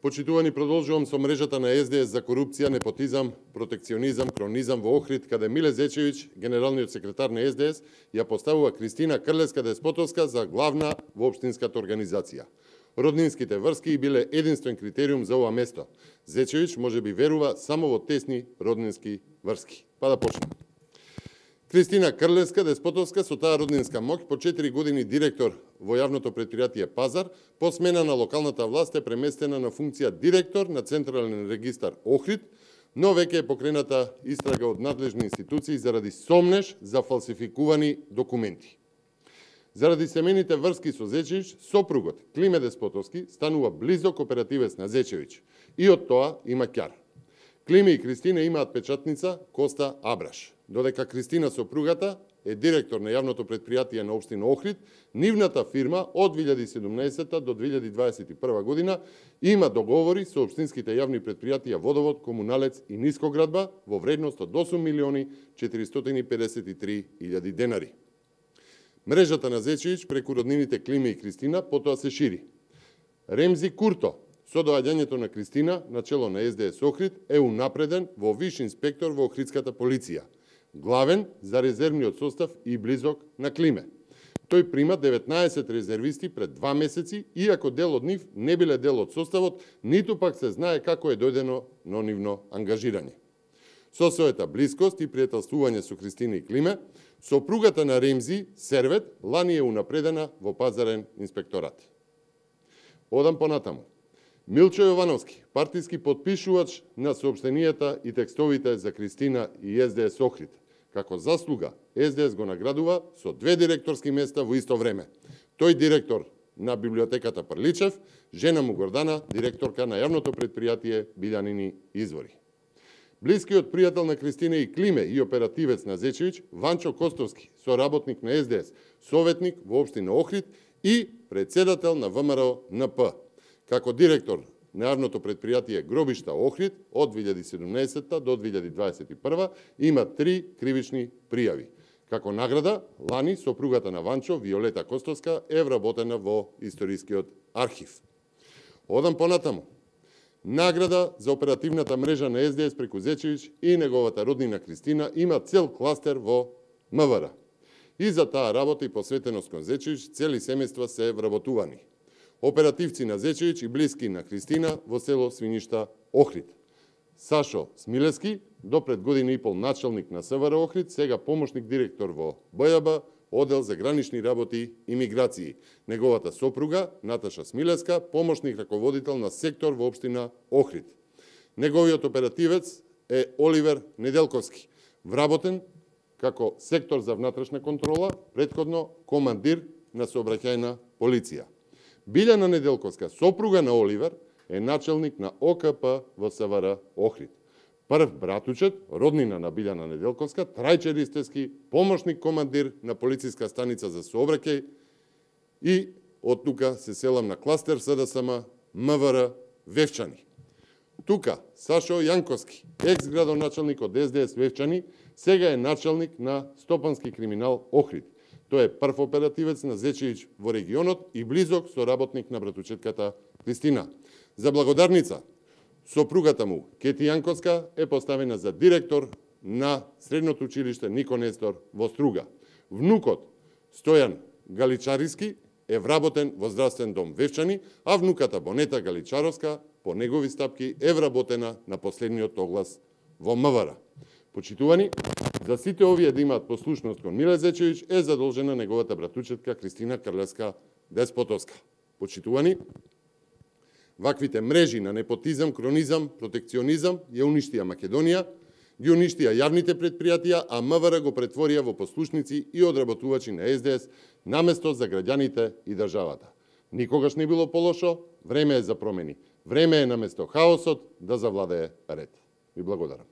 Почитувани, продолжувам со мрежата на СДС за корупција, непотизам, протекционизам, кронизам во Охрид, каде Миле Зечевиќ, генералниот секретар на СДС, ја поставува Кристина Крлеска-Деспотовска за главна во општинската организација. Роднинските врски биле единствен критериум за ова место. Зечевиќ може би верува само во тесни роднински врски. Па да почнем. Кристина Крлеска-Деспотовска со таа роднинска моќ по 4 години директор во јавното претпријатие Пазар, по смена на локалната власт е преместена на функција директор на Централен регистар Охрид, но веќе е покрената истрага од надлежни институции заради сомнеж за фалсификувани документи. Заради семејните врски со Зечевиќ, сопругот Климе Деспотовски станува близок оперативец на Зечевиќ и од тоа има ќар. Климе и Кристина имаат печатница Коста Абраш. Додека Кристина сопругата е директор на јавното претпријатие на општина Охрид, нивната фирма од 2017 до 2021 година има договори со општинските јавни претпријатија Водовод, Комуналец и Нискоградба во вредност од 8.453.000 денари. Мрежата на Зечевиќ преку роднините Климе и Кристина потоа се шири. Ремзи Курто, со доаѓањето на Кристина на чело на СДС Охрид, е унапреден во виш инспектор во Охридската полиција, главен за резервниот состав и близок на Климе. Тој прима 19 резервисти пред 2 месеци, иако дел од нив не биле дел од составот, ниту пак се знае како е дојдено на нивно ангажирање. Со својата блискост и пријателствување со Кристина и Климе, сопругата на Ремзи, Сервет, лани е унапредена во пазарен инспекторат. Одам понатаму. Милчо Јовановски, партиски подпишувач на соопштенијата и текстовите за Кристина и СДС Охрид. Како заслуга, СДС го наградува со 2 директорски места во исто време. Тој директор на библиотеката Прличев, жена му Гордана, директорка на јавното претпријатие Билјанини извори. Блискиот пријател на Кристина и Климе и оперативец на Зечевиќ, Ванчо Костовски, соработник на СДС, советник во општина Охрид и председател на ВМРО НП. Како директор на јавното претпријатие Гробишта Охрид од 2017 до 2021 има 3 кривични пријави. Како награда, лани сопругата на Ванчо, Виолета Костовска, е вработена во историскиот архив. Одам понатаму. Награда за оперативната мрежа на СДС преку Зечевиќ и неговата роднина Кристина има цел кластер во МВР. И за таа работа и посветеност кон Зечевиќ цели семејства се вработувани. Оперативци на Зечевиќ и блиски на Кристина во село Свиништа Охрид. Сашо Смилески, до пред година и пол началник на СВР Охрид, сега помошник директор во БЈБ, оддел за гранични работи и миграции. Неговата сопруга, Наташа Смилеска, помошник раководител на сектор во општина Охрид. Неговиот оперативец е Оливер Неделковски, вработен како сектор за внатрешна контрола, претходно командир на сообраќајна полиција. Билјана Неделковска, сопруга на Оливер, е начелник на ОКП во СВР Охрид. Прв братучет, роднина на Билјана Неделковска, Трајче Ристевски, помошник командир на полициска станица за сообраќај и од тука се селам на кластер СДСМ МВР Вевчани. Тука Сашо Јанковски, екс-градоначалник од СДС Вевчани, сега е началник на Стопански криминал Охрид. Тој е прв оперативец на Зечевиќ во регионот и близок соработник на братучетката Кристина. За благодарница, сопругата му, Кети Јанковска, е поставена за директор на Средното училиште Нико Нестор во Струга. Внукот, Стојан Галичариски, е вработен во здравствен дом Вевчани, а внуката Бонета Галичаровска, по негови стапки, е вработена на последниот оглас во МВР. Почитувани, за сите овие да имаат послушност кон Миле Зечевиќ е задолжена неговата братучетка Кристина Крлеска-Деспотовска. Почитувани, ваквите мрежи на непотизам, кронизам, протекционизам ја уништија Македонија, ги уништија јавните претпријатија, а МВР го претворија во послушници и одработувачи на СДС наместо за граѓаните и државата. Никогаш не било полошо, време е за промени. Време е наместо хаосот да завладее ред. Ви благодарам.